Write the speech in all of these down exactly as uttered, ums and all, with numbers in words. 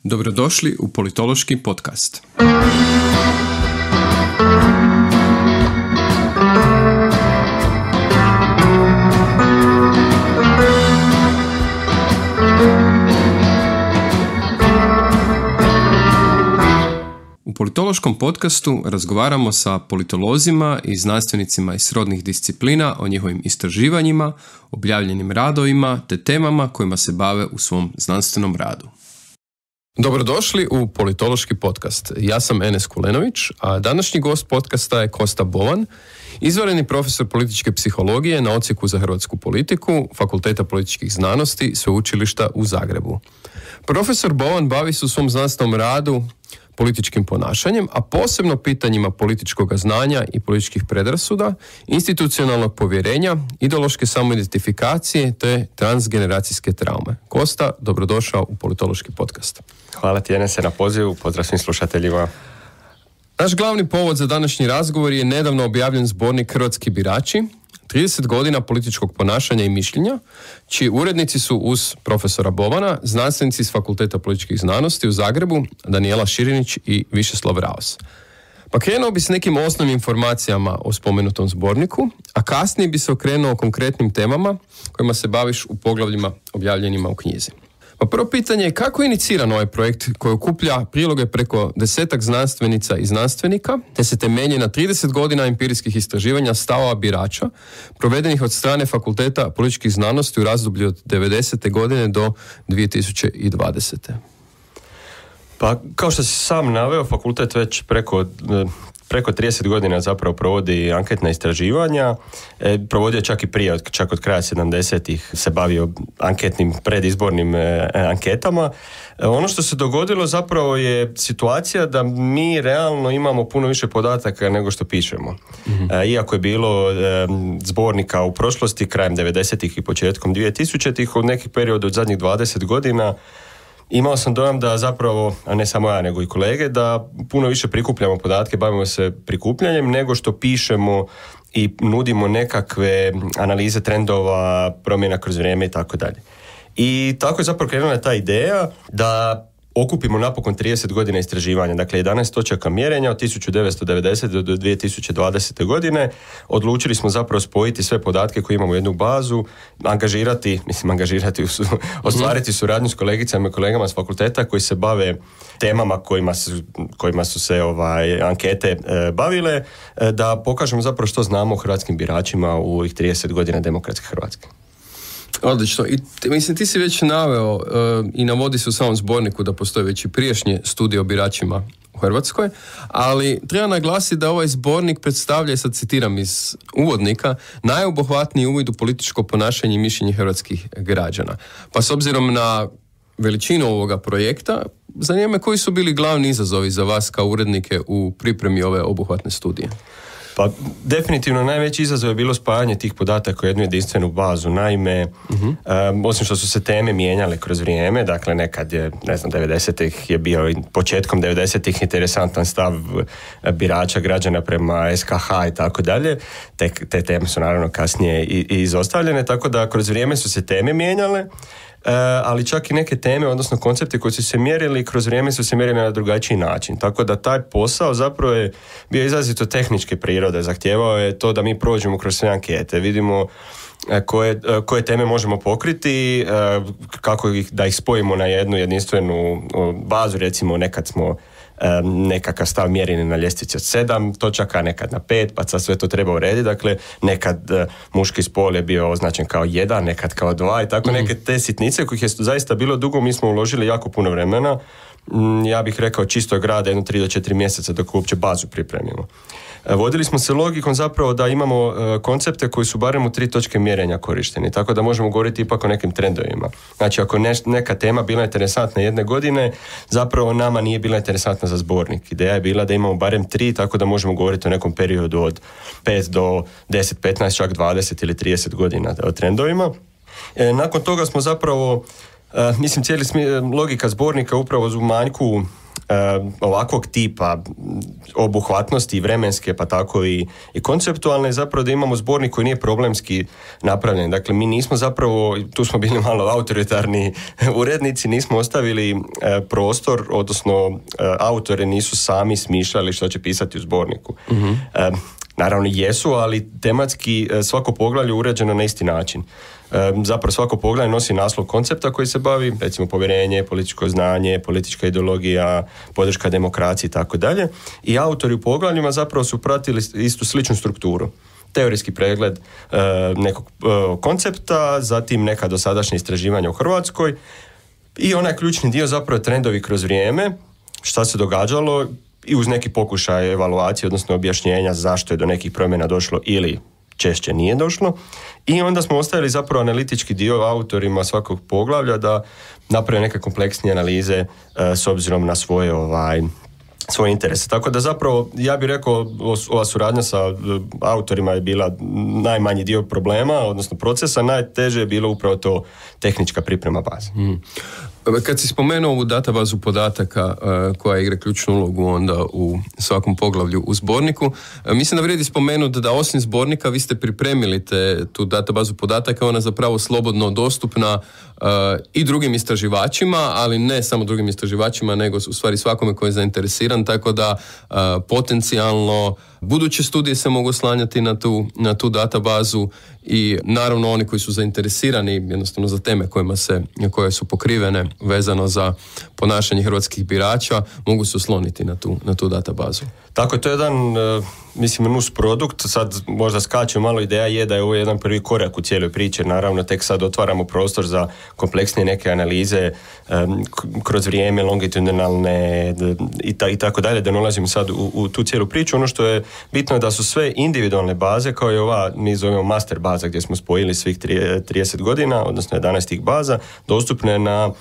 Dobrodošli u Politološki podcast. U Politološkom podcastu razgovaramo sa politolozima i znanstvenicima iz srodnih disciplina o njihovim istraživanjima, objavljenim radovima te temama kojima se bave u svom znanstvenom radu. Dobrodošli u Politološki podcast. Ja sam Enes Kulenović, a današnji gost podcasta je Kosta Bovan, izvanredni profesor političke psihologije na Odsjeku za hrvatsku politiku Fakulteta političkih znanosti Sveučilišta u Zagrebu. Profesor Bovan bavi se u svom znanstvenom radu političkim ponašanjem, a posebno pitanjima političkog znanja i političkih predrasuda, institucionalnog povjerenja, ideološke samoidentifikacije te transgeneracijske traume. Kosta, dobrodošao u Politološki podcast. Hvala ti, Enese, na pozivu, pozdrav svim slušateljima. Naš glavni povod za današnji razgovor je nedavno objavljen zbornik Hrvatski birači, trideset godina političkog ponašanja i mišljenja, čiji urednici su uz profesora Bovana, znanstvenici iz Fakulteta političkih znanosti u Zagrebu, Danijela Širinić i Višeslav Raos. Pa krenuo bi s nekim osnovnim informacijama o spomenutom zborniku, a kasnije bi se okrenuo konkretnim temama kojima se baviš u poglavljima objavljenima u knjizi. Pa prvo pitanje je kako je iniciran ovaj projekt koji okuplja priloge preko desetak znanstvenica i znanstvenika, te se temelji na trideset godina empirijskih istraživanja stavova birača, provedenih od strane Fakulteta političkih znanosti u razdoblju od devedesete godine do dvije tisuće dvadesete. Pa kao što si sam naveo, fakultet već preko... Preko trideset godina zapravo provodi anketna istraživanja, e, provodio čak i prije, čak od kraja sedamdesetih se bavio anketnim predizbornim e, anketama. E, ono što se dogodilo zapravo je situacija da mi realno imamo puno više podataka nego što pišemo. Mm-hmm. E, iako je bilo e, zbornika u prošlosti, krajem devedesetih i početkom dvije tisućitih, od nekih perioda od zadnjih dvadeset godina, imao sam dojam da zapravo, a ne samo ja nego i kolege, da puno više prikupljamo podatke, bavimo se prikupljanjem nego što pišemo i nudimo nekakve analize trendova, promjena kroz vrijeme i tako dalje. I tako je zapravo krenula ta ideja da okupimo napokon trideset godina istraživanja, dakle jedanaest točaka mjerenja od tisuću devetsto devedesete do dvije tisuće dvadesete godine. Odlučili smo zapravo spojiti sve podatke koje imamo u jednu bazu, angažirati, mislim angažirati, ostvariti suradnju s kolegicama i kolegama s fakulteta koji se bave temama kojima su, kojima su se ovaj, ankete e, bavile, e, da pokažemo zapravo što znamo o hrvatskim biračima u ovih trideset godina demokratske Hrvatske. Odlično. I t- mislim, ti si već naveo uh, i navodi se u samom zborniku da postoje već i prijašnje studije o biračima u Hrvatskoj, ali treba naglasiti da ovaj zbornik predstavlja, i sad citiram iz uvodnika, najobuhvatniji uvid u političko ponašanje i mišljenje hrvatskih građana. Pa s obzirom na veličinu ovoga projekta, zanima me koji su bili glavni izazovi za vas kao urednike u pripremi ove obuhvatne studije? Pa definitivno najveći izazov je bilo spajanje tih podataka u jednu jedinstvenu bazu. Naime, uh-huh. um, osim što su se teme mijenjale kroz vrijeme, dakle nekad je, ne znam, devedesetih je bio, početkom devedesetih interesantan stav birača građana prema es ka ha i tako dalje. Te, te teme su naravno kasnije i, i izostavljene, tako da kroz vrijeme su se teme mijenjale. Uh, ali čak i neke teme, odnosno koncepti koji su se mjerili kroz vrijeme su se mjerili na drugačiji način. Tako da taj posao zapravo je bio izrazito tehničke prirode. Zahtijevao je to da mi prođemo kroz sve ankete, vidimo uh, koje, uh, koje teme možemo pokriti, uh, kako ih, da ih spojimo na jednu jedinstvenu uh, bazu. Recimo nekad smo Um, nekakav stav mjereni na ljestvici od sedam točaka, nekad na pet, pa sad sve to treba urediti. Dakle, nekad uh, muški spol je bio označen kao jedan, nekad kao dva i tako mm. neke te sitnice kojih je zaista bilo dugo. Mi smo uložili jako puno vremena. Mm, ja bih rekao čistog rada jedno tri do četiri mjeseca dok uopće bazu pripremimo. Vodili smo se logikom zapravo da imamo uh, koncepte koji su barem u tri točke mjerenja korišteni, tako da možemo govoriti ipak o nekim trendovima. Znači, ako ne, neka tema bila interesantna jedne godine, zapravo nama nije bila interesantna za zbornik. Ideja je bila da imamo barem tri, tako da možemo govoriti o nekom periodu od pet do deset, petnaest, čak dvadeset ili trideset godina o trendovima. E, nakon toga smo zapravo, uh, mislim, cijeli smi- logika zbornika upravo u manjku ovakvog tipa obuhvatnosti vremenske pa tako i, i konceptualne, zapravo da imamo zbornik koji nije problemski napravljen. Dakle, mi nismo zapravo, tu smo bili malo autoritarni urednici, nismo ostavili e, prostor, odnosno e, autore nisu sami smišljali što će pisati u zborniku. Mm-hmm. E, naravno jesu, ali tematski e, svako poglavlje uređeno na isti način. E, zapravo svako poglavlje nosi naslov koncepta koji se bavi, recimo povjerenje, političko znanje, politička ideologija, podrška demokraciji i tako dalje. I autori u poglavljima zapravo su pratili istu sličnu strukturu. Teorijski pregled e, nekog e, koncepta, zatim neka dosadašnja istraživanja u Hrvatskoj i onaj ključni dio zapravo trendovi kroz vrijeme, šta se događalo i uz neki pokušaj evaluacije, odnosno objašnjenja zašto je do nekih promjena došlo ili češće nije došlo. I onda smo ostavili zapravo analitički dio autorima svakog poglavlja da naprave neke kompleksnije analize e, s obzirom na svoje ovaj svoje interese. Tako da zapravo, ja bih rekao, ova suradnja sa autorima je bila najmanji dio problema, odnosno procesa, najteže je bilo upravo to tehnička priprema baze. Mm. Kad si spomenuo ovu databazu podataka uh, koja igra ključnu ulogu onda u svakom poglavlju u zborniku, uh, mislim da vrijedi spomenuti da osim zbornika vi ste pripremili te, tu databazu podataka, ona je zapravo slobodno dostupna uh, i drugim istraživačima, ali ne samo drugim istraživačima, nego u stvari svakome koji je zainteresiran, tako da uh, potencijalno buduće studije se mogu slanjati na tu, na tu databazu i naravno oni koji su zainteresirani jednostavno za teme kojima se, koje su pokrivene vezano za ponašanje hrvatskih birača mogu se osloniti na tu, na tu databazu. Tako je, to je jedan, mislim, nus produkt, sad možda skače malo, ideja je da je ovo jedan prvi korak u cijeloj priči, naravno tek sad otvaramo prostor za kompleksnije neke analize um, kroz vrijeme, longitudinalne i, ta, i tako dalje, da ne ulazimo sad u, u tu cijelu priču. Ono što je bitno je da su sve individualne baze, kao i ova, mi zovemo master baza gdje smo spojili svih trideset godina, odnosno jedanaest tih baza, dostupne na,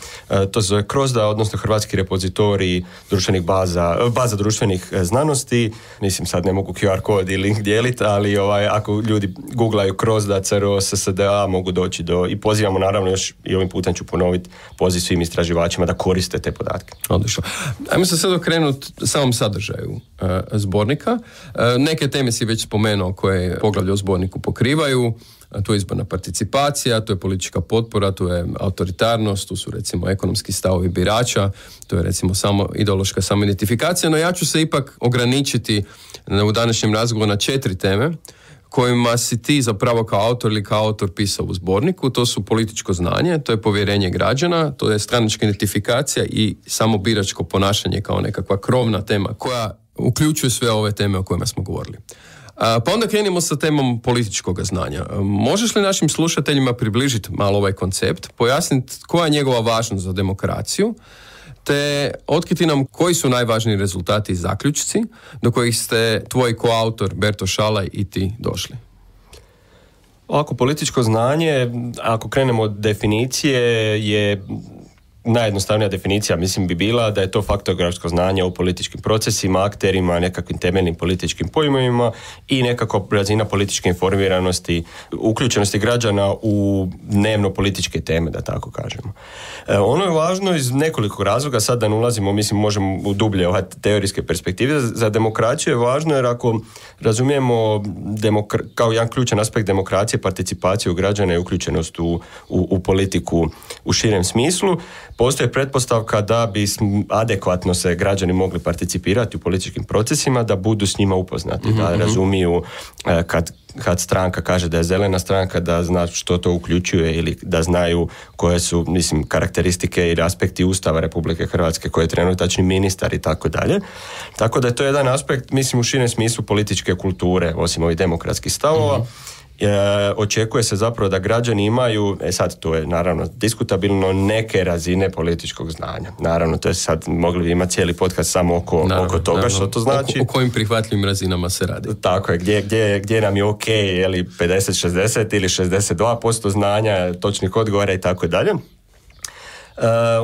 to se zove krozda, odnosno hrvatski repozitorij društvenih baza, baza društvenih znanosti. Mislim, sad ne mogu Q R kod i link dijeliti, ali ovaj, ako ljudi googlaju krozda, C R O, S S D A, mogu doći do, i pozivamo naravno još, i ovim putem ću ponoviti, poziv svim istraživačima da koriste te podatke. Odlično. Ajmo se sad okrenuti samom sadržaju uh, zbornika. Uh, neke teme si već spomenuo koje poglavlje o zborniku pokrivaju. Tu je izborna participacija, tu je politička potpora, tu je autoritarnost, tu su recimo ekonomski stavovi birača, tu je recimo samo ideološka samoidentifikacija, no ja ću se ipak ograničiti u današnjem razgovoru na četiri teme kojima si ti zapravo kao autor ili kao autor pisao u zborniku. To su političko znanje, to je povjerenje građana, to je stranačka identifikacija i samo biračko ponašanje kao nekakva krovna tema koja uključuje sve ove teme o kojima smo govorili. Pa onda krenimo sa temom političkog znanja. Možeš li našim slušateljima približiti malo ovaj koncept, pojasniti koja je njegova važnost za demokraciju, te otkriti nam koji su najvažniji rezultati i zaključci do kojih ste tvoj koautor Berto Šalaj i ti došli? Ovako, političko znanje, ako krenemo od definicije, je najjednostavnija definicija, mislim, bi bila da je to faktografsko znanje o političkim procesima, akterima, nekakvim temeljnim političkim pojmovima i nekako razina političke informiranosti, uključenosti građana u dnevno političke teme, da tako kažemo. E, ono je važno iz nekoliko razloga, sad da ne ulazimo, mislim, možemo u dublje ove teorijske perspektive. Za demokraciju je važno jer ako razumijemo demokra- kao jedan ključan aspekt demokracije, participaciju građana i uključenost u, u, u politiku u širem smislu, postoji pretpostavka da bi adekvatno se građani mogli participirati u političkim procesima, da budu s njima upoznati, mm-hmm. da razumiju kad, kad stranka kaže da je zelena stranka, da zna što to uključuje ili da znaju koje su, mislim, karakteristike ili aspekti Ustava Republike Hrvatske, koje je trenutačni ministar i tako dalje. Tako da je to jedan aspekt, mislim, u širem smislu političke kulture, osim ovih demokratskih stavova. Mm-hmm. E, očekuje se zapravo da građani imaju, e sad to je naravno diskutabilno, neke razine političkog znanja. Naravno, to je sad, mogli bi imati cijeli podcast samo oko, naravno, oko toga naravno. Što to znači. O, o kojim prihvatljivim razinama se radi. Tako je, gdje, gdje, gdje nam je ok, je li pedeset šezdeset ili šezdeset dva posto znanja, točnih odgovora i tako dalje.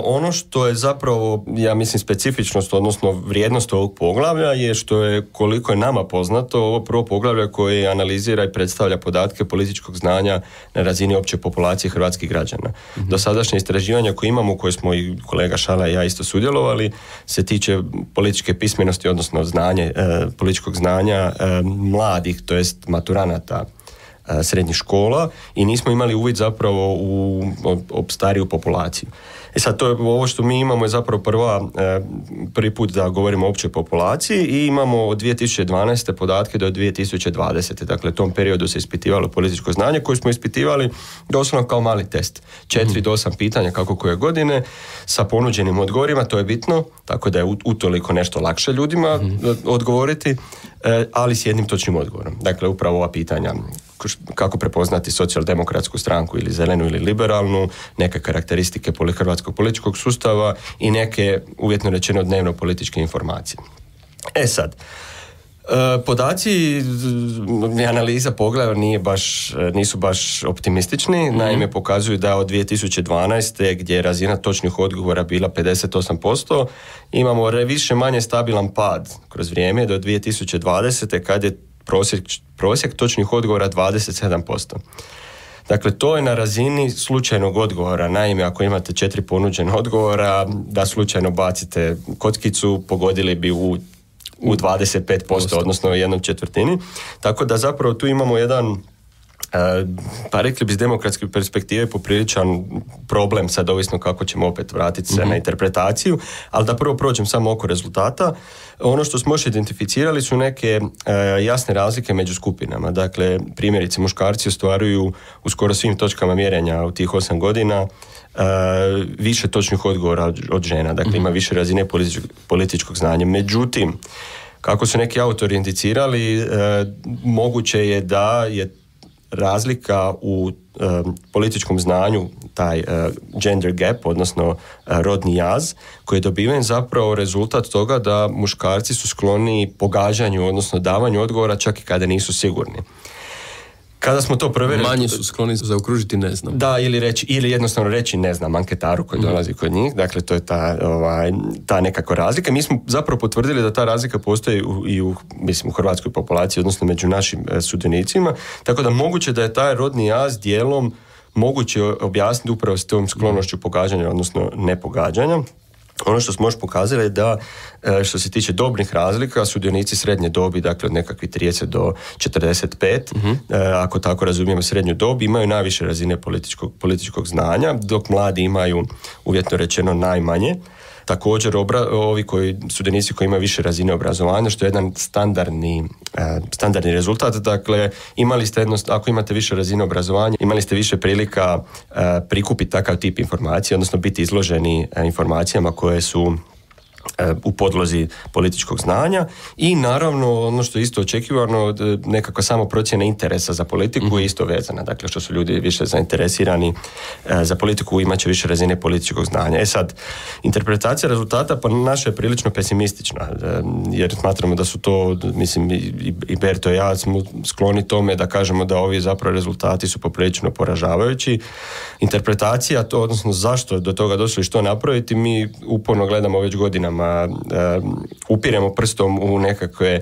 ono što je zapravo, ja mislim, specifičnost, odnosno vrijednost ovog poglavlja je što je, koliko je nama poznato, ovo prvo poglavlje koje analizira i predstavlja podatke političkog znanja na razini opće populacije hrvatskih građana. Mm-hmm. Dosadašnje istraživanja koje imamo, koje smo i kolega Šala i ja isto sudjelovali, se tiče političke pismenosti, odnosno znanje, e, političkog znanja e, mladih, to jest maturanata e, srednjih škola, i nismo imali uvid zapravo u, u, u stariju populaciju. E sad, to je, ovo što mi imamo je zapravo prva, e, prvi put da govorimo o općoj populaciji, i imamo od dvije tisuće dvanaeste podatke do dvije tisuće dvadesete. Dakle, u tom periodu se ispitivalo političko znanje koje smo ispitivali doslovno kao mali test. Četiri mm. do osam pitanja kako koje godine sa ponuđenim odgovorima, to je bitno, tako da je utoliko nešto lakše ljudima mm. odgovoriti, e, ali s jednim točnim odgovorom. Dakle, upravo ova pitanja: kako prepoznati socijaldemokratsku stranku ili zelenu ili liberalnu, neke karakteristike hrvatskog političkog sustava i neke, uvjetno rečeno, dnevno političke informacije. E sad, podaci i analiza poglavlja nije baš, nisu baš optimistični. Mm-hmm. Naime, pokazuju da od dvije tisuće dvanaeste, gdje je razina točnih odgovora bila pedeset osam posto, imamo više manje stabilan pad kroz vrijeme do dvije tisuće dvadesete, kad je prosjek, prosjek točnih odgovora dvadeset sedam posto. Dakle, to je na razini slučajnog odgovora. Naime, ako imate četiri ponuđena odgovora, da slučajno bacite kockicu, pogodili bi u, u dvadeset pet posto, odnosno u jednom četvrtini. Tako da zapravo tu imamo jedan, pa rekli bi iz demokratske perspektive, popriličan problem, sad ovisno kako ćemo opet vratiti se mm-hmm. na interpretaciju, ali da prvo prođem samo oko rezultata. Ono što smo još identificirali su neke e, jasne razlike među skupinama. Dakle, primjerice, muškarci ostvaruju u skoro svim točkama mjerenja u tih osam godina e, više točnih odgovora od, od žena. Dakle, mm-hmm. ima više razine političkog, političkog znanja. Međutim, kako su neki autori indicirali, e, moguće je da je razlika u e, političkom znanju, taj e, gender gap, odnosno e, rodni jaz, koji je dobiven zapravo rezultat toga da muškarci su skloni pogađanju, odnosno davanju odgovora čak i kada nisu sigurni. Kada smo to provjerili... Manje su skloni zaokružiti ne znam. Da, ili, reći, ili jednostavno reći ne znam anketaru koji dolazi kod njih. Dakle, to je ta, ovaj, ta nekako razlika. Mi smo zapravo potvrdili da ta razlika postoji u, i u, mislim, u hrvatskoj populaciji, odnosno među našim e, sudionicima. Tako da moguće da je taj rodni jaz dijelom moguće objasniti upravo s tom sklonošću pogađanja, odnosno nepogađanja. Ono što smo još pokazali je da, što se tiče dobnih razlika, sudionici srednje dobi, dakle od nekakvih trideset do četrdeset pet, uh-huh. ako tako razumijemo srednju dob, imaju najviše razine političkog, političkog znanja, dok mladi imaju, uvjetno rečeno, najmanje. Također, obra, ovi koji, sudionici koji imaju više razine obrazovanja, što je jedan standardni, eh, standardni rezultat. Dakle, imali ste jedno, ako imate više razine obrazovanja, imali ste više prilika eh, prikupiti takav tip informacije, odnosno biti izloženi eh, informacijama koje su u podlozi političkog znanja, i naravno ono što je isto očekivano, nekakva samo procjena interesa za politiku mm-hmm. je isto vezana. Dakle, što su ljudi više zainteresirani e, za politiku, imat će više razine političkog znanja. E sad, interpretacija rezultata pa naša je prilično pesimistična, e, jer smatramo da su to, mislim, i, i Berto i ja smo skloni tome da kažemo da ovi zapravo rezultati su poprilično poražavajući. Interpretacija, to, odnosno zašto do toga došlo i što napraviti, mi uporno gledamo već godinama. Um, upiremo prstom u nekakve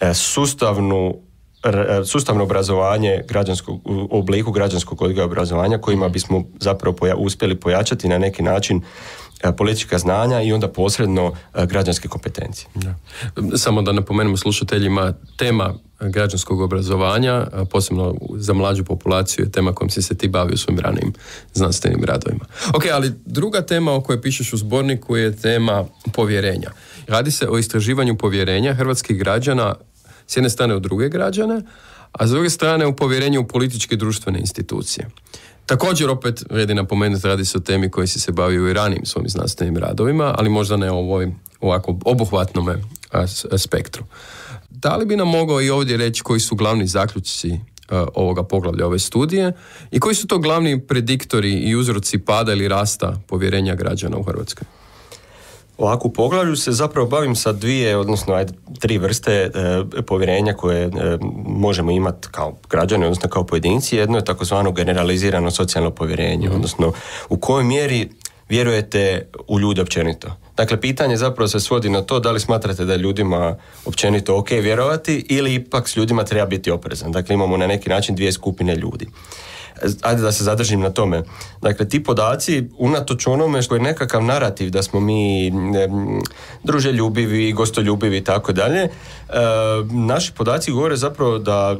uh, sustavnu, r, sustavno obrazovanje građanskog, u obliku građanskog odgoja obrazovanja, kojima bismo zapravo poja, uspjeli pojačati na neki način uh, politička znanja i onda posredno uh, građanske kompetencije. Ja. Samo da napomenemo slušateljima, tema građanskog obrazovanja, posebno za mlađu populaciju, je tema kojom si se ti bavio u svojim ranijim znanstvenim radovima. Ok, ali druga tema o kojoj pišeš u zborniku je tema povjerenja. Radi se o istraživanju povjerenja hrvatskih građana s jedne strane u druge građane, a s druge strane u povjerenju u političke i društvene institucije. Također, opet vredi napomenuti, radi se o temi koji si se bavio i ranijim svojim znanstvenim radovima, ali možda ne o ovoj ovako obuhvatnome spektru. Da li bi nam mogao i ovdje reći koji su glavni zaključci uh, ovoga poglavlja, ove studije, i koji su to glavni prediktori i uzroci pada ili rasta povjerenja građana u Hrvatskoj? Ovako, u poglavlju se zapravo bavim sa dvije, odnosno ajde, tri vrste e, povjerenja koje e, možemo imati kao građani, odnosno kao pojedinci. Jedno je takozvano generalizirano socijalno povjerenje, mm. odnosno u kojoj mjeri vjerujete u ljude općenito? Dakle, pitanje zapravo se svodi na to da li smatrate da je ljudima općenito ok vjerovati ili ipak s ljudima treba biti oprezan. Dakle, imamo na neki način dvije skupine ljudi. Ajde da se zadržim na tome. Dakle, ti podaci, unatoč onome što je nekakav narativ da smo mi ne, druželjubivi, gostoljubivi i tako dalje, e, naši podaci govore zapravo da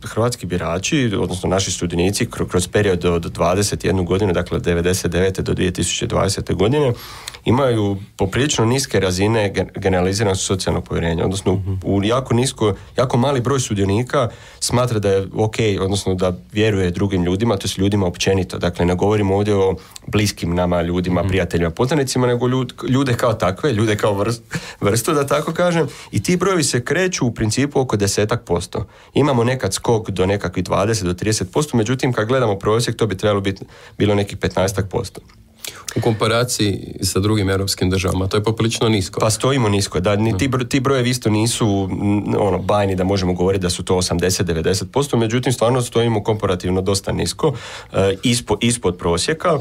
hrvatski birači, odnosno naši studionici kroz period od dvadeset jednu godinu, dakle od devedeset devete do dvije tisuće dvadesete godine, imaju poprilično niske razine generaliziranog socijalnog povjerenja, odnosno mm-hmm. u jako nisko, jako mali broj sudionika smatra da je ok, odnosno da vjeruje drugim ljudima, to su ljudima općenito. Dakle, ne govorimo ovdje o bliskim nama ljudima, mm-hmm. prijateljima, poznanicima, nego ljud, ljude kao takve, ljude kao vrst, vrstu, da tako kažem. I ti brojevi se kreću u principu oko desetak posto. Imamo nekad skok do nekakvih dvadeset do trideset posto, međutim, kad gledamo prosjek, to bi trebalo biti bilo nekih petnaestak posto. U komparaciji sa drugim europskim državama, to je poprilično nisko. Pa stojimo nisko, da ni ti, ti brojevi isto nisu ono, bajni da možemo govoriti da su to osamdeset do devedeset posto, međutim stvarno stojimo komparativno dosta nisko, eh, ispod, ispod prosjeka.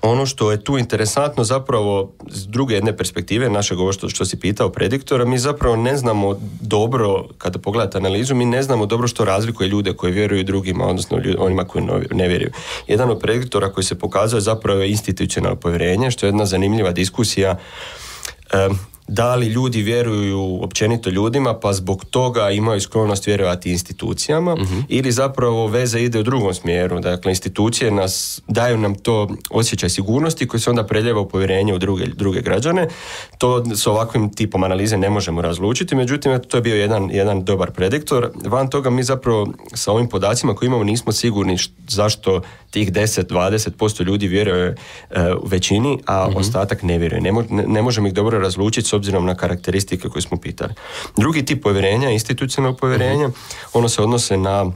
Ono što je tu interesantno zapravo s druge jedne perspektive našeg ovo što, što si pitao prediktora, mi zapravo ne znamo dobro, kada pogledate analizu, mi ne znamo dobro što razlikuje ljude koji vjeruju drugima, odnosno ljudi, onima koji ne vjeruju. Jedan od prediktora koji se pokazuje zapravo je institucionalno povjerenje, što je jedna zanimljiva diskusija. Um, da li ljudi vjeruju općenito ljudima pa zbog toga imaju sklonost vjerovati institucijama uh-huh. ili zapravo veza ide u drugom smjeru. Dakle, institucije nas, daju nam to osjećaj sigurnosti koji se onda preljeva u povjerenje u druge, druge građane. To s ovakvim tipom analize ne možemo razlučiti, međutim to je bio jedan, jedan dobar prediktor. Van toga mi zapravo sa ovim podacima koje imamo nismo sigurni š, zašto tih deset do dvadeset posto ljudi vjeruje uh, u većini, a uh-huh. ostatak ne vjeruje. Ne, mo, ne, ne možemo ih dobro razlučiti s obzirom na karakteristike koje smo pitali. Drugi tip povjerenja, institucionalnog povjerenja, uh-huh. ono se odnose na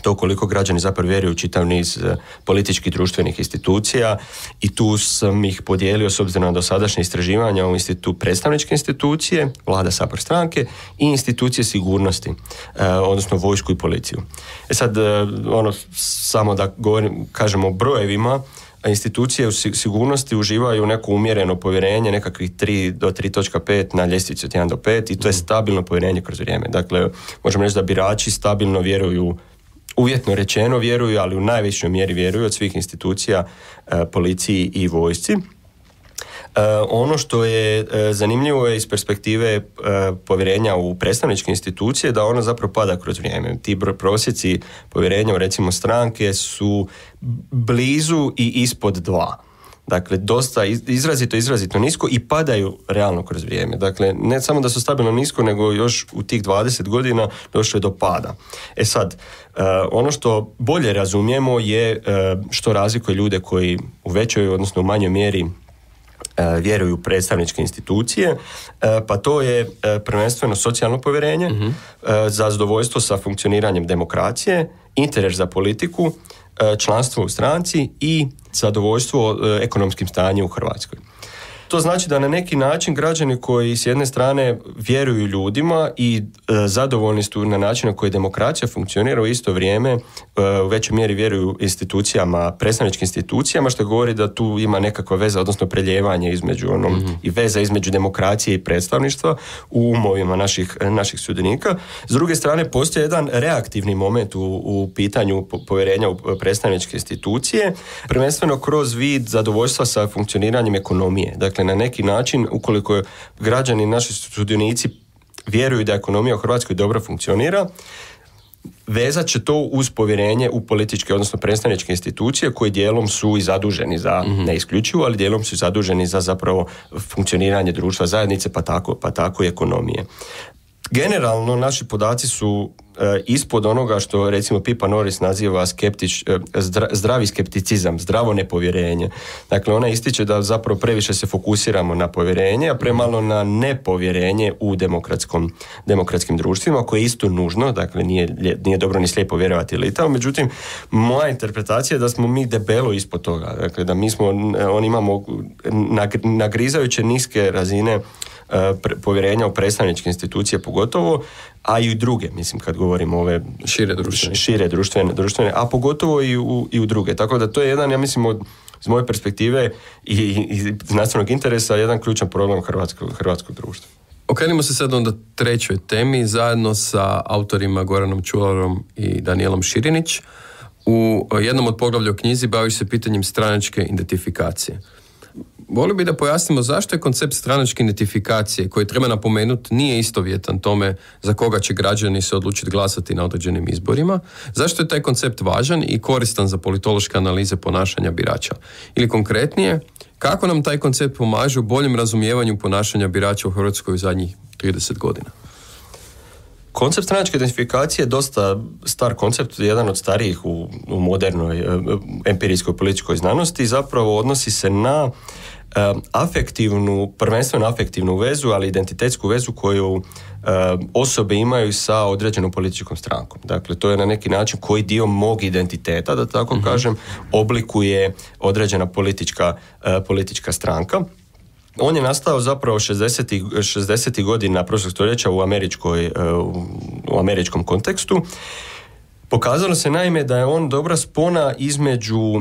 to koliko građani zapravo vjeruju u čitav niz političkih društvenih institucija i tu sam ih podijelio s obzirom na dosadašnje istraživanja u institutu predstavničke institucije, vlada, sabor, stranke i institucije sigurnosti, eh, odnosno vojsku i policiju. E sad, eh, ono, samo da govorim, kažemo o brojevima, institucije u sigurnosti uživaju neko umjereno povjerenje, nekakvih tri do tri zarez pet na ljestvici od jedan do pet i to je stabilno povjerenje kroz vrijeme. Dakle, možemo reći da birači stabilno vjeruju, uvjetno rečeno vjeruju, ali u najvećoj mjeri vjeruju od svih institucija, e, policiji i vojsci. E, ono što je e, zanimljivo je iz perspektive e, povjerenja u predstavničke institucije da ono zapravo pada kroz vrijeme. Ti prosjeci povjerenja u recimo stranke su blizu i ispod dva. Dakle, dosta izrazito, izrazito nisko i padaju realno kroz vrijeme. Dakle, ne samo da su stabilno nisko, nego još u tih dvadeset godina došlo je do pada. E sad, uh, ono što bolje razumijemo je uh, što razlikuje ljude koji u većoj, odnosno u manjoj mjeri uh, vjeruju u predstavničke institucije, uh, pa to je uh, prvenstveno socijalno povjerenje, uh-huh. uh, za zadovoljstvo sa funkcioniranjem demokracije, interes za politiku, članstvo u stranci i zadovoljstvo ekonomskim stanjem u Hrvatskoj. To znači da na neki način građani koji s jedne strane vjeruju ljudima i e, zadovoljni su na način na koji demokracija funkcionira, u isto vrijeme e, u većoj mjeri vjeruju institucijama, predstavničkim institucijama, što govori da tu ima nekakva veza, odnosno preljevanje između onom, mm-hmm. i veza između demokracije i predstavništva u umovima naših, naših sudionika. S druge strane, postoji jedan reaktivni moment u, u pitanju povjerenja u predstavničke institucije, prvenstveno kroz vid zadovoljstva sa funkcioniranjem ekonomije. Dakle, na neki način, ukoliko građani, naši sudionici vjeruju da ekonomija u Hrvatskoj dobro funkcionira, vezat će to uz povjerenje u političke, odnosno predstavničke institucije koji dijelom su i zaduženi za, mm-hmm. ne isključivo, ali dijelom su zaduženi za zapravo funkcioniranje društva zajednice, pa tako, pa tako i ekonomije. Generalno, naši podaci su e, ispod onoga što recimo Pippa Norris naziva skeptič, e, zdra, zdravi skepticizam, zdravo nepovjerenje. Dakle, ona ističe da zapravo previše se fokusiramo na povjerenje, a premalo na nepovjerenje u demokratskom, demokratskim društvima, koje je isto nužno, dakle nije, nije dobro ni slijepo vjerovati ili tamo, međutim, moja interpretacija je da smo mi debelo ispod toga, dakle da mi smo, on imamo nagrizajuće niske razine povjerenja u predstavničke institucije pogotovo, a i u druge, mislim, kad govorimo ove šire društvene, šire društvene, društvene a pogotovo i u, i u druge. Tako da to je jedan, ja mislim, od iz moje perspektive i, i znanstvenog interesa jedan ključan problem hrvatskog, hrvatskog društva. Okrenimo se sad onda trećoj temi zajedno sa autorima Goranom Čularom i Danijelom Širinić. U jednom od poglavlja u knjizi baviš se pitanjem stranačke identifikacije. Volio bi da pojasnimo zašto je koncept stranačke identifikacije, koji treba napomenuti nije istovjetan tome za koga će građani se odlučiti glasati na određenim izborima. Zašto je taj koncept važan i koristan za politološke analize ponašanja birača? Ili konkretnije, kako nam taj koncept pomaže u boljem razumijevanju ponašanja birača u Hrvatskoj u zadnjih trideset godina? Koncept stranačke identifikacije je dosta star koncept, jedan od starijih u, u modernoj empirijskoj političkoj znanosti i zapravo odnosi se na uh, afektivnu, prvenstveno afektivnu vezu, ali identitetsku vezu koju uh, osobe imaju sa određenom političkom strankom. Dakle, to je na neki način koji dio mog identiteta, da tako mm-hmm. kažem, oblikuje određena politička, uh, politička stranka. On je nastao zapravo šezdesetih godina prošlog stoljeća u, američkoj, u američkom kontekstu. Pokazalo se naime da je on dobra spona između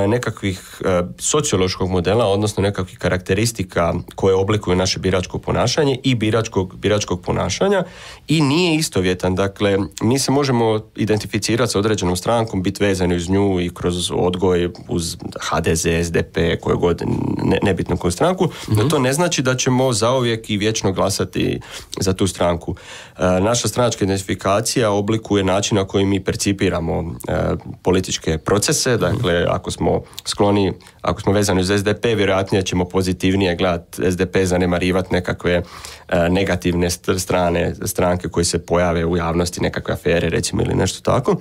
nekakvih sociološkog modela, odnosno nekakvih karakteristika koje oblikuju naše biračko ponašanje i biračkog, biračkog ponašanja i nije istovjetan. Dakle, mi se možemo identificirati sa određenom strankom, biti vezani uz nju i kroz odgoj uz ha de ze, es de pe, koje god, ne, nebitno koju stranku, mm-hmm. no to ne znači da ćemo zauvijek i vječno glasati za tu stranku. Naša stranačka identifikacija oblikuje način na koji mi percipiramo e, političke procese, dakle ako smo skloni, ako smo vezani uz es de pe, vjerojatnije ćemo pozitivnije gledati es de pe, zanemarivati nekakve e, negativne strane, stranke koje se pojave u javnosti, nekakve afere recimo ili nešto tako.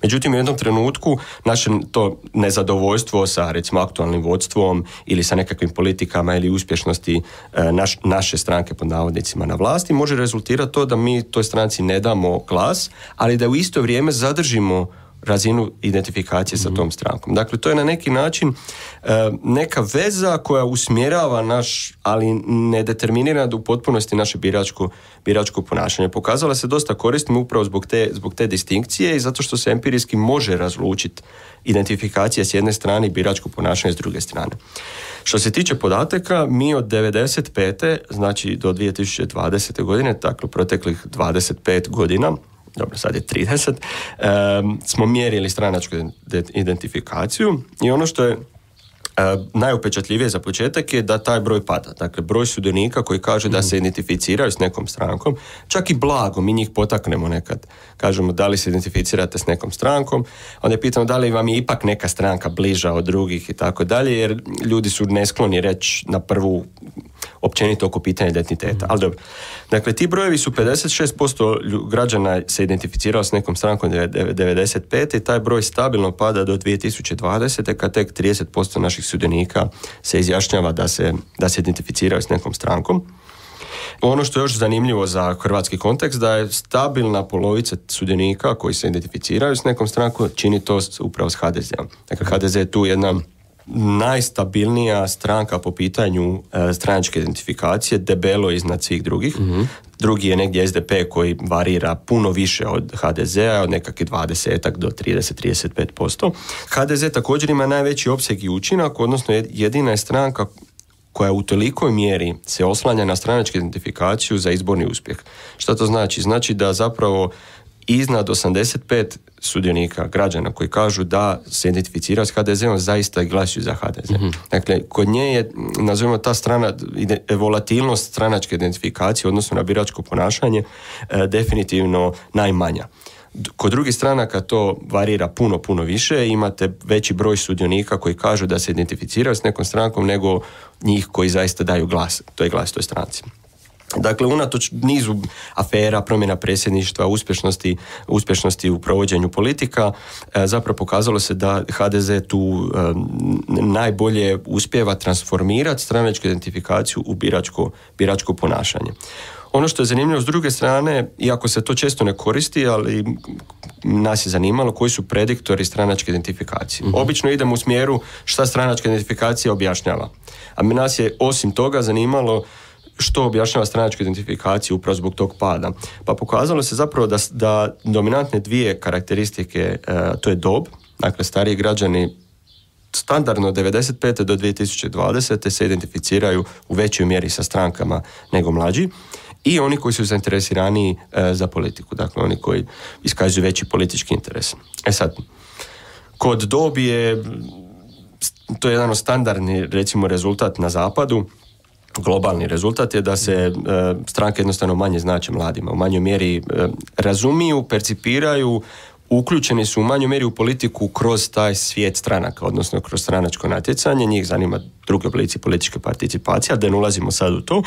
Međutim, u jednom trenutku naše to nezadovoljstvo sa recimo aktualnim vodstvom ili sa nekakvim politikama ili uspješnosti e, naš, naše stranke pod navodnicima na vlasti može rezultirati to da mi toj stranci ne damo glas, ali da u isto vrijeme zadržimo razinu identifikacije sa tom strankom. Dakle, to je na neki način e, neka veza koja usmjerava naš, ali ne determinira u potpunosti naše biračko, biračko ponašanje. Pokazala se dosta korisnim upravo zbog te, zbog te distinkcije i zato što se empirijski može razlučiti identifikacija s jedne strane i biračko ponašanje s druge strane. Što se tiče podataka, mi od devedeset pete znači do dvije tisuće dvadesete godine, dakle proteklih dvadeset pet godina, dobro, sad je trideset, um, smo mjerili stranačku identifikaciju i ono što je Uh, najupečatljivije za početak je da taj broj pada. Dakle, broj sudionika koji kaže da se identificiraju s nekom strankom, čak i blago, mi njih potaknemo nekad. Kažemo da li se identificirate s nekom strankom, onda pitamo da li vam je ipak neka stranka bliža od drugih i tako dalje, jer ljudi su neskloni reći na prvu općenito oko pitanja identiteta. Ali dobro. Dakle, ti brojevi su pedeset šest posto građana se identificirao s nekom strankom devedeset pete i taj broj stabilno pada do dvije tisuće dvadesete kad tek trideset posto naših sudionika se izjašnjava da se, da se identificiraju s nekom strankom. Ono što je još zanimljivo za hrvatski kontekst da je stabilna polovica sudionika koji se identificiraju s nekom strankom čini to upravo s ha de zeom. Dakle, ha de ze je tu jedna najstabilnija stranka po pitanju e, stranačke identifikacije, debelo iznad svih drugih. Mm-hmm. Drugi je negdje es de pe koji varira puno više od ha de zea, od nekakvih dvadeset do trideset do trideset pet posto. ha de ze također ima najveći opseg i učinak, odnosno jedina je stranka koja u tolikoj mjeri se oslanja na stranačku identifikaciju za izborni uspjeh. Šta to znači? Znači da zapravo iznad osamdeset pet sudionika, građana koji kažu da se identificiraju s ha de zeom, zaista i glasuju za ha de ze. Mm-hmm. Dakle, kod nje je, nazovimo ta strana, volatilnost stranačke identifikacije, odnosno na biračko ponašanje, e, definitivno najmanja. Kod drugih stranaka to varira puno, puno više. Imate veći broj sudionika koji kažu da se identificiraju s nekom strankom nego njih koji zaista daju glas, to je glas toj stranci. Dakle, unatoč nizu afera, promjena predsjedništva, uspješnosti, uspješnosti u provođenju politika, zapravo pokazalo se da ha de ze tu um, najbolje uspijeva transformirati stranačku identifikaciju u biračko, biračko ponašanje. Ono što je zanimljivo s druge strane, iako se to često ne koristi, ali nas je zanimalo koji su prediktori stranačke identifikacije. Mm-hmm. Obično idemo u smjeru šta stranačka identifikacija objašnjava. A nas je osim toga zanimalo što objašnjava stranačku identifikaciju upravo zbog tog pada. Pa pokazalo se zapravo da, da dominantne dvije karakteristike, e, to je dob, dakle stariji građani standardno od devedeset pete do dvije tisuće dvadesete se identificiraju u većoj mjeri sa strankama nego mlađi i oni koji su zainteresiraniji e, za politiku, dakle oni koji iskazuju veći politički interes. E sad, kod dobi je, to je jedan standardni, recimo, rezultat na zapadu, globalni rezultat je da se e, stranke jednostavno manje znače mladima, u manjoj mjeri e, razumiju, percipiraju, uključeni su u manjoj mjeri u politiku kroz taj svijet stranaka, odnosno kroz stranačko natjecanje, njih zanima drugi oblici političke participacije, ali da ne ulazimo sad u to.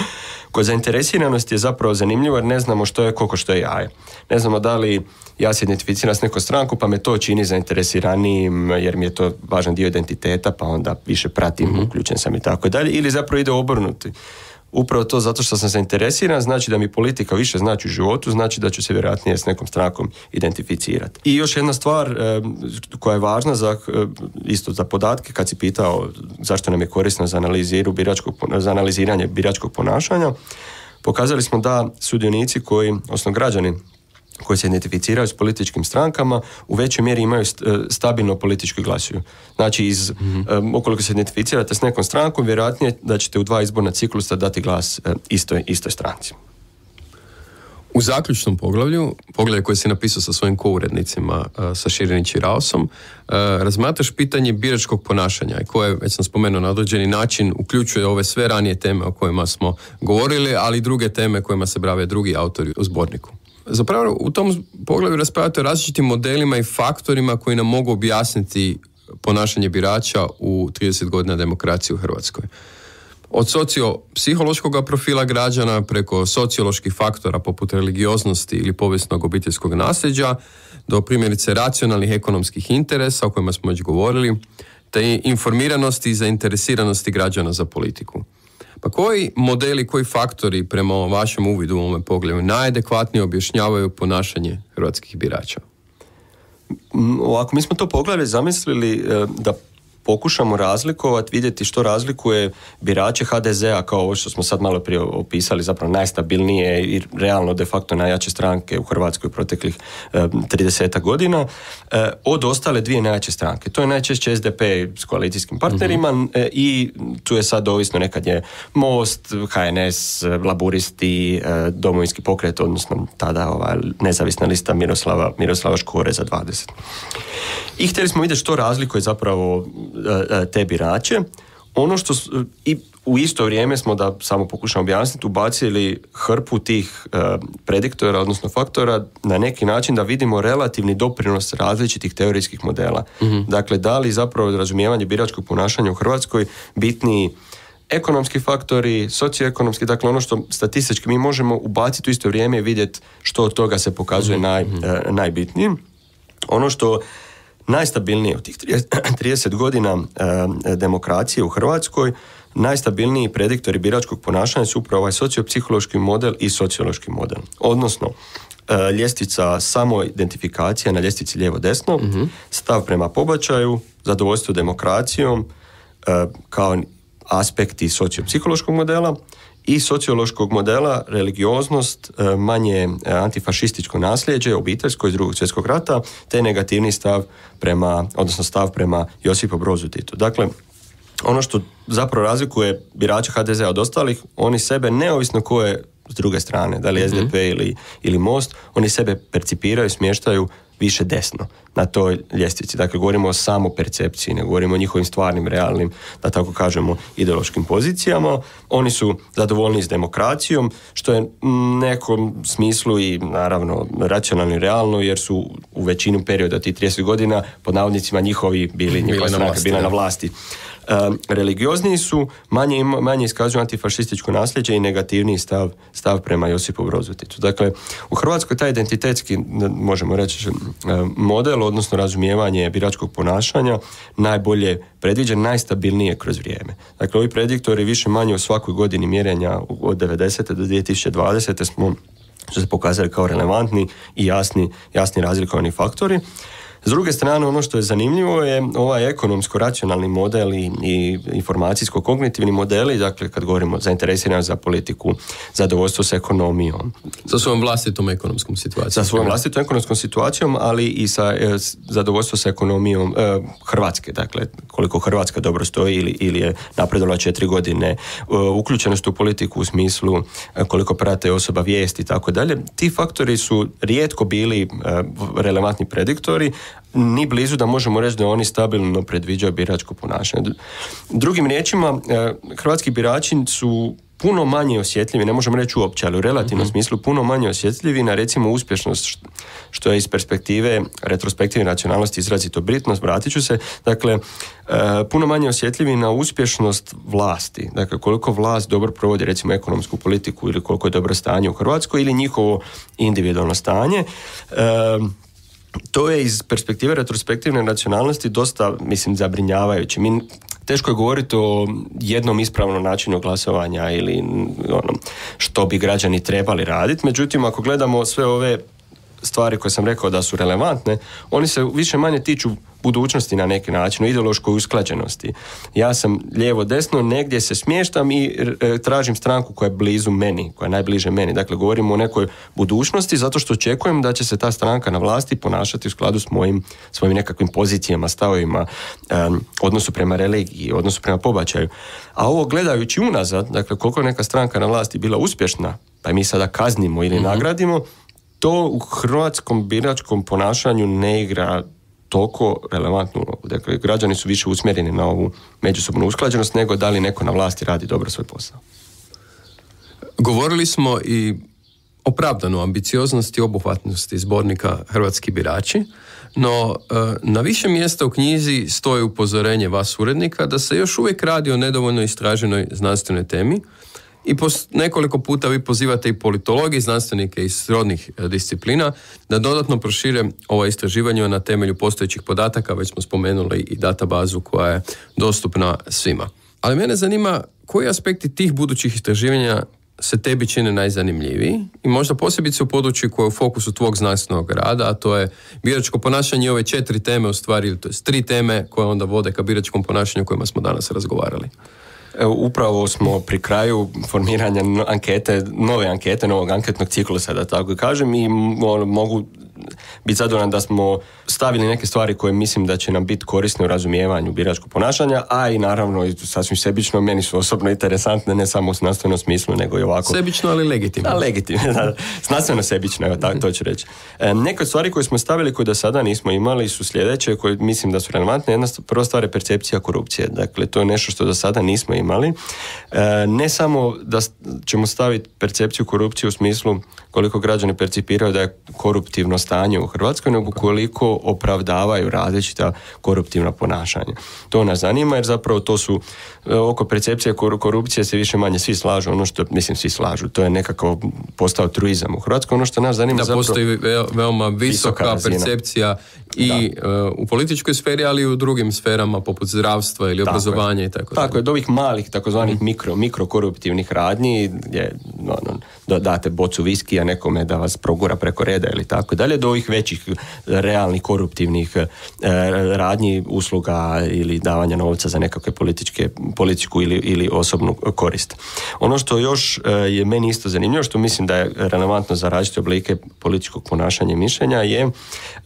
Kod zainteresiranosti je zapravo zanimljivo jer ne znamo što je koliko što je jaje. Ne znamo da li ja se identificiram s nekom stranku pa me to čini zainteresiranijim jer mi je to važan dio identiteta pa onda više pratim, mm-hmm. uključen sam i tako dalje, ili zapravo ide obrnuti. Upravo to zato što sam zainteresiran, znači da mi politika više znači u životu, znači da ću se vjerojatnije s nekom strankom identificirati. I još jedna stvar e, koja je važna za, e, isto za podatke, kad si pitao zašto nam je korisno za, biračkog, za analiziranje biračkog ponašanja, pokazali smo da sudionici koji, odnosno građani koji se identificiraju s političkim strankama u većoj mjeri imaju stabilno politički glasuju. Znači, iz, mm-hmm. um, ukoliko se identificirate s nekom strankom, vjerojatnije da ćete u dva izborna ciklusa dati glas um, istoj, istoj stranci. U zaključnom poglavlju, poglavlje koje si napisao sa svojim kourednicima, uh, sa Širinić i Raosom, uh, razmatraš pitanje biračkog ponašanja i koje, već sam spomenuo, na određeni način uključuje ove sve ranije teme o kojima smo govorili, ali i druge teme kojima se bave drugi autori u zborniku. Zapravo u tom poglavlju raspravljate o različitim modelima i faktorima koji nam mogu objasniti ponašanje birača u trideset godina demokracije u Hrvatskoj. Od sociopsihološkog profila građana preko socioloških faktora poput religioznosti ili povijesnog obiteljskog nasljeđa do primjerice racionalnih ekonomskih interesa o kojima smo već govorili, te informiranosti i zainteresiranosti građana za politiku. Pa koji modeli, koji faktori prema vašem uvidu u ovome pogledu najadekvatnije objašnjavaju ponašanje hrvatskih birača? Ovako, mi smo to poglavlje zamislili da pokušamo razlikovati, vidjeti što razlikuje birače ha de zea kao ovo što smo sad malo prije opisali, zapravo najstabilnije i realno de facto najjače stranke u Hrvatskoj proteklih trideset godina, e, od ostale dvije najjače stranke. To je najčešće es de pe s koalicijskim partnerima mm-hmm. e, i tu je sad ovisno, nekad je Most, ha en es, Laburisti, e, Domovinski pokret, odnosno tada ova nezavisna lista Miroslava, Miroslava Škore za dvadeset. I htjeli smo vidjeti što razlikuje zapravo te birače. Ono što i u isto vrijeme smo, da samo pokušamo objasniti, ubacili hrpu tih uh, prediktora, odnosno faktora, na neki način da vidimo relativni doprinos različitih teorijskih modela. Mm-hmm. Dakle, da li zapravo razumijevanje biračkog ponašanja u Hrvatskoj bitniji ekonomski faktori, socioekonomski, dakle ono što statistički mi možemo ubaciti u isto vrijeme i vidjeti što od toga se pokazuje mm-hmm. naj, uh, najbitnijim. Ono što najstabilnije u tih trideset godina e, demokracije u Hrvatskoj, najstabilniji prediktori biračkog ponašanja su upravo ovaj sociopsihološki model i sociološki model. Odnosno, e, ljestvica samoidentifikacija na ljestvici lijevo-desno, mm-hmm. stav prema pobačaju, zadovoljstvo demokracijom, e, kao aspekti sociopsihološkog modela, i sociološkog modela religioznost, manje antifašističko nasljeđe, obiteljsko iz drugog svjetskog rata, te negativni stav prema, odnosno stav prema Josipu Brozu Titu. Dakle, ono što zapravo razlikuje birača ha de zea od ostalih, oni sebe, neovisno ko je s druge strane, da li mm-hmm. es de pe ili, ili Most, oni sebe percipiraju, smještaju više desno na toj ljestvici. Dakle, govorimo o samopercepciji, ne govorimo o njihovim stvarnim, realnim, da tako kažemo, ideološkim pozicijama. Oni su zadovoljni s demokracijom, što je u nekom smislu i naravno racionalno i realno, jer su u većinu perioda tih trideset godina pod navodnicima njihovi bili, njihova stranka bila na vlasti. Um, religiozniji su, manje, manje iskazuju antifašističko nasljeđe i negativniji stav, stav prema Josipu Brozu Titu. Dakle, u Hrvatskoj taj identitetski, možemo reći, model, odnosno razumijevanje biračkog ponašanja, najbolje predviđen, najstabilnije kroz vrijeme. Dakle, ovi prediktori više manje u svakoj godini mjerenja od devedesete do dvije tisuće dvadesete smo su se pokazali kao relevantni i jasni, jasni razlikovani faktori. S druge strane, ono što je zanimljivo je ovaj ekonomsko-racionalni model i, i informacijsko-kognitivni modeli, dakle kad govorimo zainteresiranost za politiku, zadovoljstvo s ekonomijom. Sa svojom vlastitom ekonomskom situacijom. Sa svojom vlastitom ekonomskom situacijom, ali i sa e, zadovoljstvo s ekonomijom e, Hrvatske, dakle koliko Hrvatska dobro stoji ili, ili je napredovala četiri godine, e, uključenost u politiku u smislu e, koliko prate osoba vijesti i tako dalje. Ti faktori su rijetko bili e, relevantni prediktori, ni blizu da možemo reći da oni stabilno predviđaju biračko ponašanje. Drugim riječima, e, hrvatski birači su puno manje osjetljivi, ne možemo reći uopće, ali u relativnom mm-hmm. smislu puno manje osjetljivi na recimo uspješnost, što je iz perspektive retrospektivne racionalnosti izrazito bitno, vratit ću se, dakle, e, puno manje osjetljivi na uspješnost vlasti, dakle koliko vlast dobro provodi recimo ekonomsku politiku ili koliko je dobro stanje u Hrvatskoj ili njihovo individualno stanje. E, to je iz perspektive retrospektivne racionalnosti dosta, mislim, zabrinjavajuće. Mi teško je govoriti o jednom ispravnom načinu glasovanja ili ono, što bi građani trebali raditi. Međutim, ako gledamo sve ove stvari koje sam rekao da su relevantne, oni se više manje tiču budućnosti na neki način, o ideološkoj usklađenosti. Ja sam lijevo desno, negdje se smještam i e, tražim stranku koja je blizu meni, koja je najbliže meni. Dakle, govorimo o nekoj budućnosti zato što očekujem da će se ta stranka na vlasti ponašati u skladu s mojim, svojim nekakvim pozicijama, stavovima, e, odnosu prema religiji, odnosu prema pobačaju. A ovo gledajući unazad, dakle, koliko neka stranka na vlasti bila uspješna, pa mi sada kaznimo ili mm-hmm. nagradimo, to u hrvatskom biračkom ponašanju ne igra toliko relevantnu ulogu. Dakle, građani su više usmjereni na ovu međusobnu usklađenost nego da li neko na vlasti radi dobro svoj posao. Govorili smo i opravdano ambicioznosti i obuhvatnosti zbornika Hrvatski birači, no na više mjesta u knjizi stoji upozorenje vas urednika da se još uvijek radi o nedovoljno istraženoj znanstvenoj temi. I pos, nekoliko puta vi pozivate i politologi, znanstvenike iz srodnih disciplina da dodatno prošire ova istraživanja na temelju postojećih podataka, već smo spomenuli i databazu koja je dostupna svima. Ali mene zanima koji aspekti tih budućih istraživanja se tebi čine najzanimljiviji i možda posebice u području koje je u fokusu tvog znanstvenog rada, a to je biračko ponašanje i ove četiri teme u stvari, to je tri teme koje onda vode ka biračkom ponašanju o kojima smo danas razgovarali. Upravo smo pri kraju formiranja ankete, nove ankete, novog anketnog ciklusa, da tako kažem, i mogu biti zadovoljan da smo stavili neke stvari koje mislim da će nam biti korisne u razumijevanju biračkog ponašanja, a i naravno sasvim sebično, meni su osobno interesantne, ne samo u znanstvenom smislu, nego i ovako. Sebično, ali legitimno. Da, legitimno, da. Znanstveno sebično, evo tako to ću reći. E, neke od stvari koje smo stavili koje do sada nismo imali su sljedeće, koje mislim da su relevantne. Jedna prva stvar je percepcija korupcije. Dakle, to je nešto što do sada nismo imali. E, ne samo da ćemo staviti percepciju korupcije u smislu koliko građani percipiraju da je koruptivno stanje u Hrvatskoj, nego koliko opravdavaju različita koruptivna ponašanja. To nas zanima jer zapravo to su oko percepcije korupcije se više manje svi slažu, ono što mislim svi slažu, to je nekako postao truizam u Hrvatskoj, ono što nas zanima da zapravo postoji veoma visoka, visoka percepcija i uh, u političkoj sferi, ali i u drugim sferama poput zdravstva ili tako obrazovanja je. I tako. Tako je, od ovih malih takozvanih mm. mikro, mikrokoruptivnih radnji gdje ono, date bocu viskija nekome da vas progura preko reda ili tako dalje, do ovih većih realnih koruptivnih e, radnji, usluga ili davanja novca za nekakve političke, političku ili, ili osobnu korist. Ono što još e, je meni isto zanimljivo, što mislim da je relevantno za različite oblike političkog ponašanja i mišljenja, je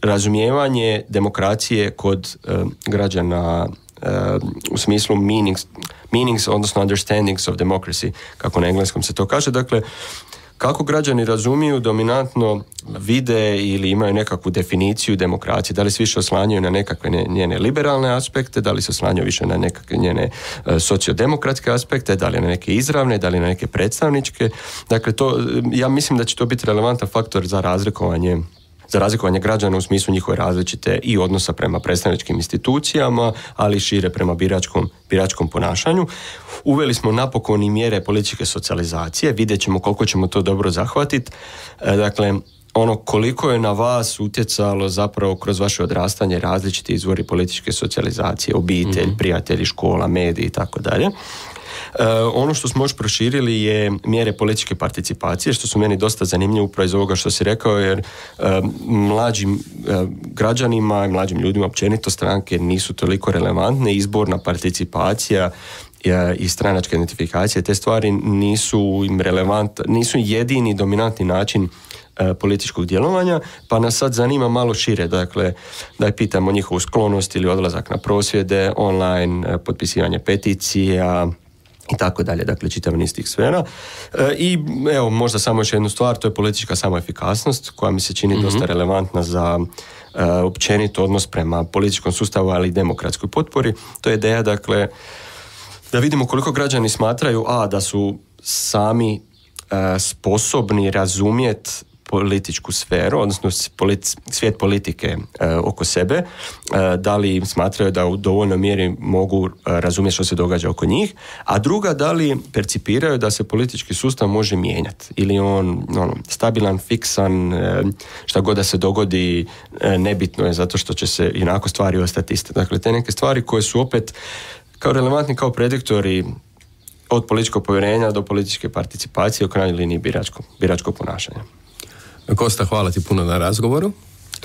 razumijevanje demokracije kod e, građana e, u smislu meanings, meanings, odnosno understandings of democracy, kako na engleskom se to kaže. Dakle, kako građani razumiju, dominantno vide ili imaju nekakvu definiciju demokracije, da li se više oslanjaju na nekakve njene liberalne aspekte, da li se oslanjaju više na nekakve njene e, sociodemokratske aspekte, da li na neke izravne, da li na neke predstavničke. Dakle, to, ja mislim da će to biti relevantan faktor za razlikovanje za razlikovanje građana u smislu njihove različite i odnosa prema predstavničkim institucijama, ali i šire prema biračkom, biračkom ponašanju. Uveli smo napokon i mjere političke socijalizacije, vidjet ćemo koliko ćemo to dobro zahvatiti. E, dakle, ono koliko je na vas utjecalo zapravo kroz vaše odrastanje različiti izvori političke socijalizacije, obitelj, mm-hmm. prijatelji, škola, mediji i tako dalje. ono što smo još proširili je mjere političke participacije, što su meni dosta zanimljivo upravo iz ovoga što si rekao, jer uh, mlađim uh, građanima i mlađim ljudima općenito stranke nisu toliko relevantne, izborna participacija i stranačka identifikacija, te stvari nisu im relevant, nisu jedini dominantni način e, političkog djelovanja, pa nas sad zanima malo šire, dakle, da je pitamo njihovu sklonost ili odlazak na prosvjede, online, e, potpisivanje peticija i tako dalje, dakle, čitav niz tih sfera. E, I evo, možda samo još jednu stvar, to je politička samoefikasnost, koja mi se čini mm-hmm. dosta relevantna za e, općenito odnos prema političkom sustavu, ali i demokratskoj potpori. To je ideja, dakle, da vidimo koliko građani smatraju a da su sami e, sposobni razumjeti političku sferu, odnosno politi- svijet politike e, oko sebe, e, da li smatraju da u dovoljnoj mjeri mogu e, razumjeti što se događa oko njih, a druga, da li percipiraju da se politički sustav može mijenjati ili on ono, stabilan, fiksan, e, šta god da se dogodi e, nebitno je zato što će se inako stvari ostati iste. Dakle, te neke stvari koje su opet kao relevantni kao prediktori od političkog povjerenja do političke participacije, u krajnjoj liniji biračko, biračko ponašanja. Kosta, hvala ti puno na razgovoru.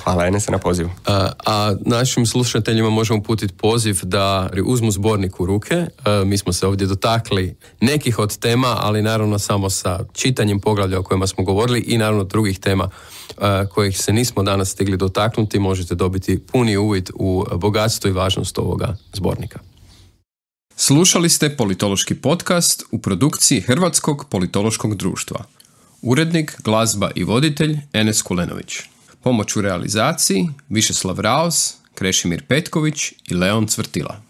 Hvala Enese na pozivu. A, a našim slušateljima možemo uputiti poziv da uzmu zbornik u ruke. A, mi smo se ovdje dotakli nekih od tema, ali naravno samo sa čitanjem poglavlja o kojima smo govorili i naravno drugih tema a, kojih se nismo danas stigli dotaknuti. Možete dobiti puni uvid u bogatstvo i važnost ovoga zbornika. Slušali ste politološki podcast u produkciji Hrvatskog politološkog društva. Urednik, glazba i voditelj Enes Kulenović. Pomoć u realizaciji Višeslav Raos, Krešimir Petković i Leon Cvrtila.